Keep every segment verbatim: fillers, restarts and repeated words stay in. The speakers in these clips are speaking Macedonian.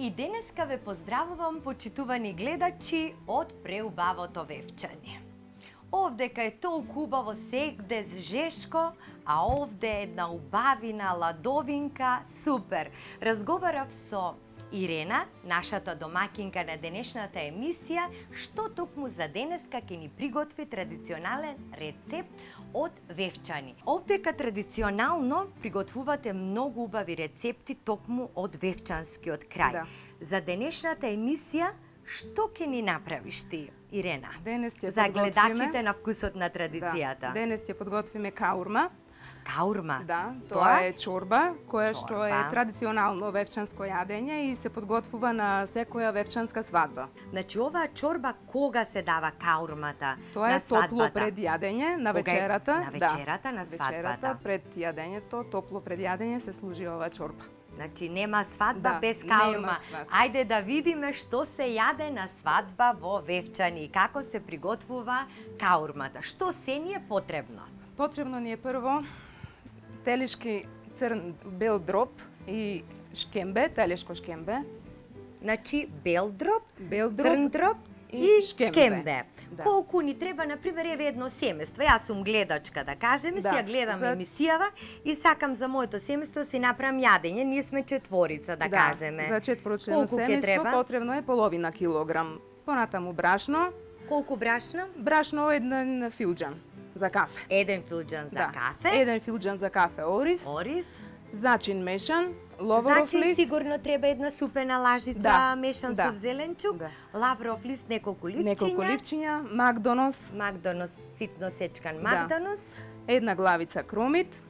И денеска ве поздравувам, почитувани гледачи, од преубавото Вевчани. Овде кај толку убаво сегде жешко, а овде една убавина ладовинка, супер. Разговарав со Ирена, нашата домакинка на денешната емисија, што токму за денеска ќе ни приготви традиционален рецепт од Вевчани. Овдека традиционално приготвувате многу убави рецепти токму од вевчанскиот крај. Да. За денешната емисија, што ќе ни направиш ти, Ирена? Денес ќе за подготвиме... гледачите на вкусот на традицијата. Да. Денес ќе подготвиме каурма. Каурма? Да, тоа, Тоа е чорба, која чорба. што е традиционално вевчанско јадење и се подготвува на секоја вевчанска свадба. Значи, оваа чорба кога се дава каурмата? Тоа на е топло свадбата? пред јадење, на Кога е- вечерата. на вечерата, да. на свадбата. Вечерата, пред јадењето, топло пред јадење се служи оваа чорба. Значи, нема свадба Да, без нема каурма. свадба. Ајде да видиме што се јаде на свадба во Вевчани и како се приготвува каурмата. Што се ни е потребно? Потребно ни е прво телешки црн бел дроб и шкембе, телешко шкембе. Значи, бел дроб, Бел дроб црн дроб и, и шкембе. шкембе. Да. Колку ни треба, например, еве едно семејство. Јас сум гледачка, да кажеме, Да, си ја гледам за- емисијава и сакам за моето семејство си направам јадење. Ние сме четворица, да, кажеме. За четворочлено Колку ќе семејство треба? потребно е половина килограм. Понатаму брашно, Колку брашно? брашно еден филџан за кафе. Еден филџан за да. кафе. Еден филџан за кафе ориз, Орис. зачин мешан, ловоров Значи, лист. сигурно треба една супена лажица Да, мешан да, со зеленчук, да. лавров лист, неколку ливчиња, неколку ливчиња, макдонос, макдонос, ситно сечкан Да. макдонос, една главица кромит,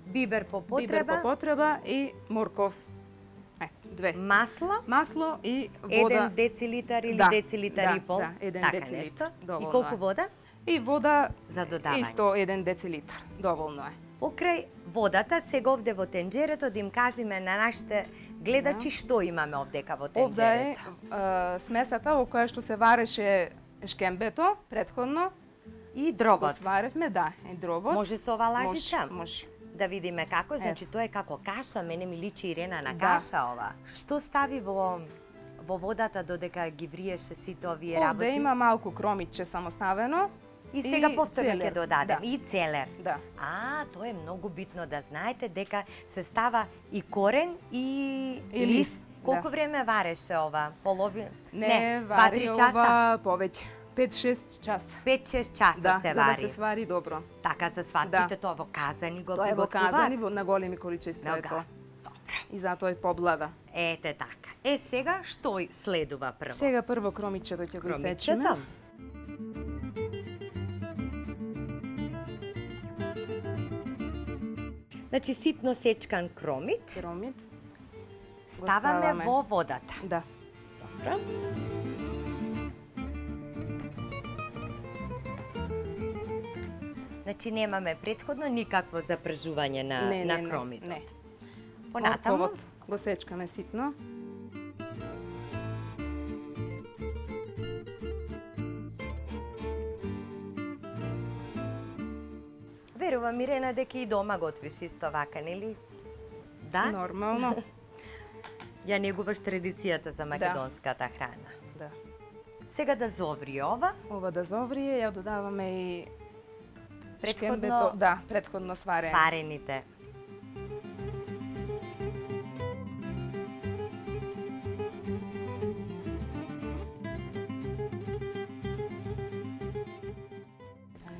бибер по бибер потреба, по потреба и морков. Е, две. масло, Масло и вода. еден децилитар или Да, децилитар да, и пол, да, еден така децилитар, нешто. И доволно колку е. вода? И вода За додавање. исто еден децилитар. Доволно е. Покрај водата, сега овде во тенџерето да им кажеме на нашите гледачи што имаме овдека во Овде е тенџерето. а, смесата во која што се вареше шкембето предходно. И Го дробот. сваревме, да, и дробот. Може со ова лажица? Може, може. Да видиме како, значи тоа е како каша, мене ми личи Ирена на Да. каша ова. Што стави во во водата додека ги вриеше сите овие работи? Овде има малку кромитче самоставено. И сега и повторно ќе целер. додадем Да. и целер. Да. А, тоа е многу битно да знаете дека се става и корен и, И лист. лист, Колку да. време вареше ова? Полови? Не, два вари три часа. ова повеќе. пет-шест часа. пет-шест часа Да, се за вари. да се свари добро. Така за свадбите, Да. тоа во казани го Тоа е во приготвуваат. казани во- на големи количества е Нога. тоа. Добро. И затоа е поблада. Ете така. Е, сега што следува прво? Сега прво кромичето ќе го Кромичето. исечеме. Значи ситно сечкан кромит Кромит. ставаме ставаме. во водата. Да. Добро. Значи немаме претходно никакво запржување на Не, на не, не, кромитот. не. Понатаму Морковот го сечкаме ситно. верувам Ирена дека и дома готвиш исто вака, нели? Да? Нормално. Ја негуваш традицијата за македонската храна. Да. Сега да зоври ова, Ова да зоврие, ја додаваме и Претходно- шкембето, да, претходно сварено. сварените.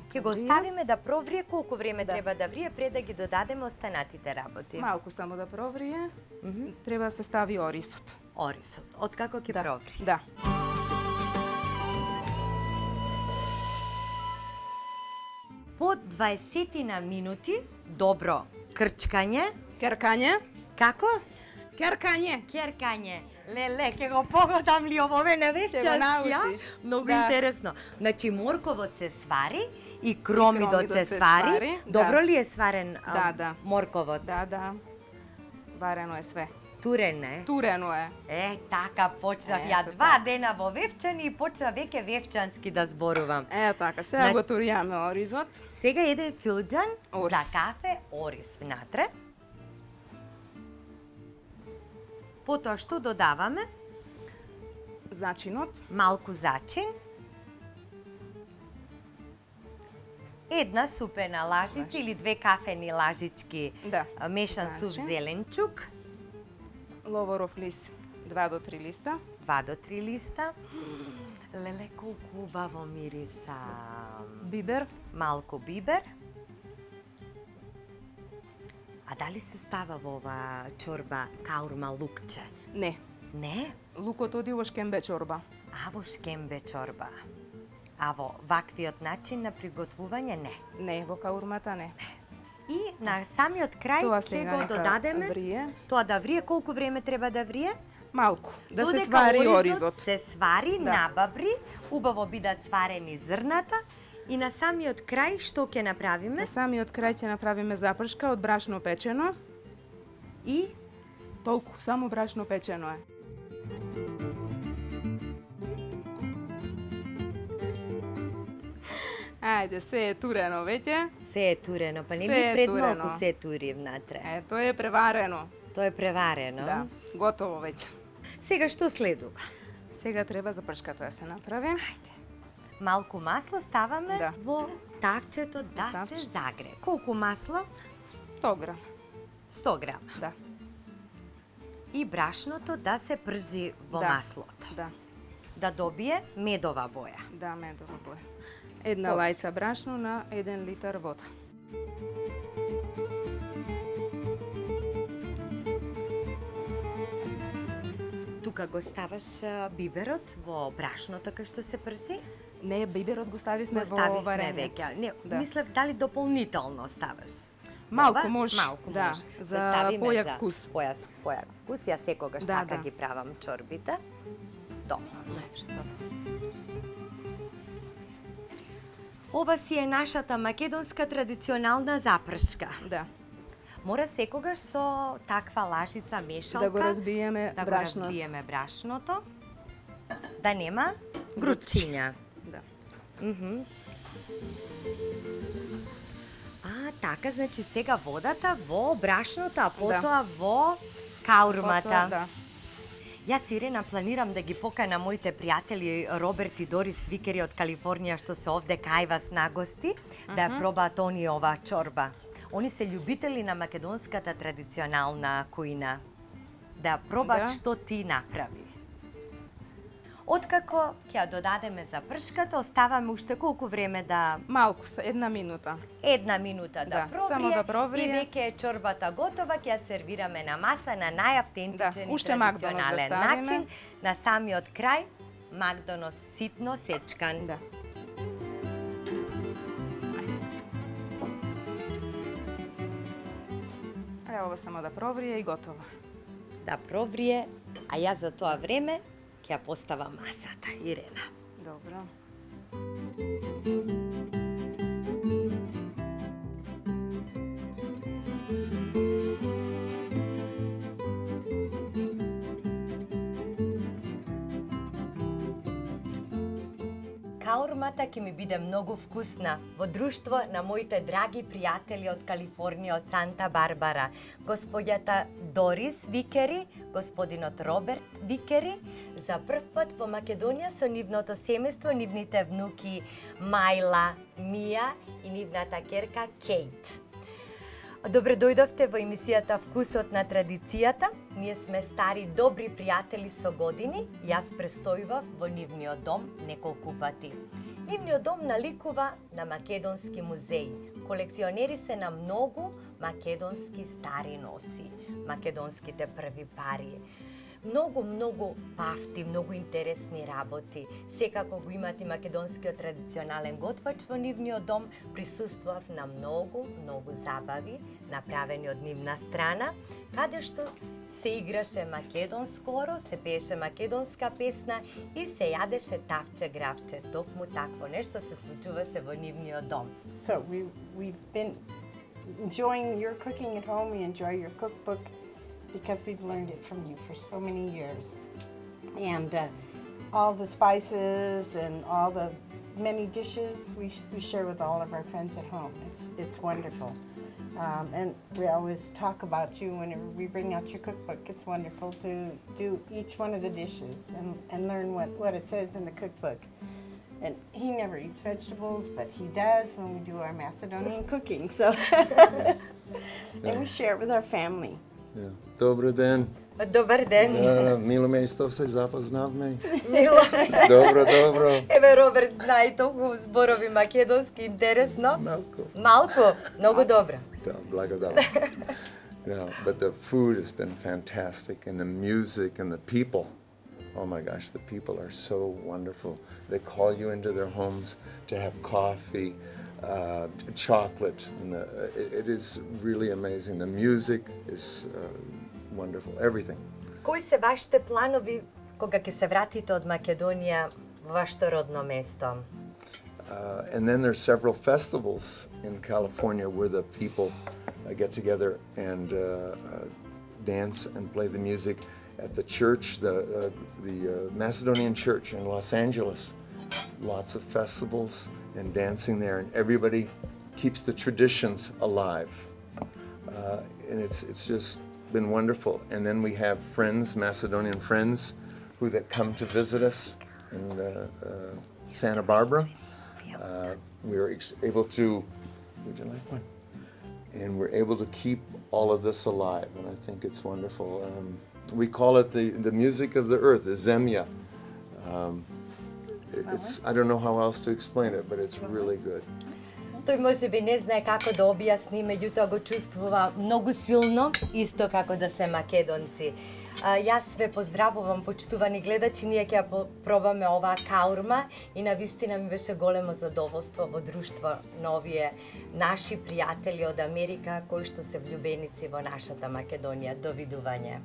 Ќе го оставиме да проврие, колку време Да. треба да врие пред да ги додадеме останатите работи. Малку само да проврие. Мгм. Треба да се стави орисот. Орисот, откако ќе Да. проври. Да. По дваесет на минути, добро крчкање, Керкање. како? Керкање. Керкање. Леле, ќе го погодам ли овове на вевчански, научиш. а? Многу Да. интересно. Значи, морковот се свари и кромидот, кромидот се, се свари. свари, Добро да. ли е сварен а, Да, да. морковот? Да, да. Варено е све. Турен е. Турено е. Е, така почнав Ето ја два така. дена во Вевчани и почнав веќе вевчански да зборувам. Е, така, сега На- го туријаме оризот. Сега еден филџан Орис. за кафе орис внатре. Потоа што додаваме? Зачинот. Малку зачин. Една супена лажица Лажица. или две кафени лажички Да. мешан сув Зачин. зеленчук. Ловоров лист два до три листа. два до три листа. Леле, колку убаво мириса. Бибер. Малку бибер. А дали се става во оваа чорба каурма лукче? Не. Не? Лукот оди во шкембе чорба. А во шкембе чорба. А во ваквиот начин на приготвување не. Не, во каурмата не. И на самиот крај Тоа ќе сега го нека додадеме. врие. Тоа да врие, колку време треба да врие? Малку, да се Додека свари оризот. се свари, Да. набабри, убаво бидат сварени зрната и на самиот крај што ќе направиме? На самиот крај ќе направиме запршка од брашно печено. И Толку, само брашно печено е. Ајде, се е турено веќе. се е турено, па не Се ли е пред турено. малку се тури внатре? Е, тоа е преварено. Тоа е преварено. Да, готово веќе. Сега што следува? Сега треба запршката да се направи. Малку масло ставаме Да. во тавчето да Тавче. се загре. Колку масло? сто грам. сто грама. Да. И брашното да се пржи во Да. маслото. Да, Да добие медова боја. да, медова боја. Една Добро. лајца брашно на еден литар вода. Тука го ставаш а, биберот во брашното кај што се пржи? Не, биберот го ставивме Го во ставивме варенето. веќе. Не, Да. мислев дали дополнително ставаш. Малку Ова? може, Малку да, може. за Го ставиме појак за вкус. Појак, појак вкус. Ја секогаш Да, така да. ги правам чорбите. Добро. Најпше, добро. Ова си е нашата македонска традиционална запршка. Да, Мора секогаш со таква лажица мешалка да го разбиеме да го брашното. разбиеме брашното, да нема грудчиња. Да. Мгм. А, така, значи сега водата во брашното, а потоа во каурмата. Потоа, да. Јас, Ирена, планирам да ги покана моите пријатели Роберт и Дорис Викери од Калифорнија што се овде кај вас на гости, да ја пробаат они оваа чорба. Они се љубители на македонската традиционална кујна. Да ја пробаат Да. што ти направи. Откако ќе ја додадеме запршката, оставаме уште колку време да Малку, са една минута. една минута да, Да, проврие, само да проврие. и веќе е чорбата готова, ќе ја сервираме на маса на најавтентичен Да, и уште Макдонос да традиционален ставиме. начин. На самиот крај Макдонос ситно сечкан. Да. Е, ова само да проврие и готово. Да проврие, а јас за тоа време ќе ја поставам масата, Ирена. Добро. Каурмата ќе ми биде многу вкусна во друштво на моите драги пријатели од Калифорнија, од Санта Барбара, господјата Дорис Викери, господинот Роберт Викери, за прв пат во Македонија со нивното семејство, нивните внуки Мајла, Мија и нивната керка Кейт. Добре дојдовте во емисијата Вкусот на традицијата. Ние сме стари добри пријатели со години. Јас престојував во нивниот дом неколку пати. Нивниот дом наликува на македонски музеи. Колекционери се на многу македонски стари носи, македонските први пари. Многу, многу пафти, многу интересни работи. Секако го имат и македонскиот традиционален готвач во нивниот дом. Присуствував на многу, многу забави, направени од нивна страна, каде што се играше македонско оро, се пееше македонска песна и се јадеше тавче гравче. Токму такво нешто се случуваше во нивниот дом. So we, we've been enjoying your cooking at home. We enjoy your cookbook because we've learned it from you for so many years. And uh, all the spices and all the many dishes we, we share with all of our friends at home. It's, it's wonderful. Um, and we always talk about you whenever we bring out your cookbook. It's wonderful to do each one of the dishes and, and learn what, what it says in the cookbook. And he never eats vegetables, but he does when we do our Macedonian cooking. So, and we share it with our family. Yeah. Добър ден. Добар ден. Да, мило ме исто се запознавме. Мило. Добро, добро. Еве Роберт знае толку зборови македонски, интересно. Малко. Малку, многу добро. Да, благодарам. Yeah, but the food has been fantastic, and the music and the people. Oh my gosh, the people are so wonderful. They call you into their homes to have coffee, uh, chocolate. And the, it, it is really amazing. The music is uh, wonderful. Everything. Кои се вашите планови кога ќе се вратите од Македонија во вашето родно место? Uh, and then there's several festivals in California where the people uh, get together and uh, uh, dance and play the music at the church, the uh, the uh, Macedonian church in Los Angeles. Lots of festivals and dancing there, and everybody keeps the traditions alive. Uh, and it's it's just been wonderful. And then we have friends, Macedonian friends, who that come to visit us in uh, uh, Santa Barbara. Uh, we were ex- able to, would you like one? And we're able to keep all of this alive, and I think it's wonderful. Um, we call it the, the music of the earth, the Zemlja. Um, it- it's, I don't know how else to explain it, but it's really good. Тој можеби не знае како да објасни, меѓутоа го чувствува многу силно, исто како да се македонци. А, јас ве поздравувам, почитувани гледачи, ние ќе ја по- пробаме оваа каурма и навистина ми беше големо задоволство во друштво на овие наши пријатели од Америка кои што се влюбеници во нашата Македонија. Довидување.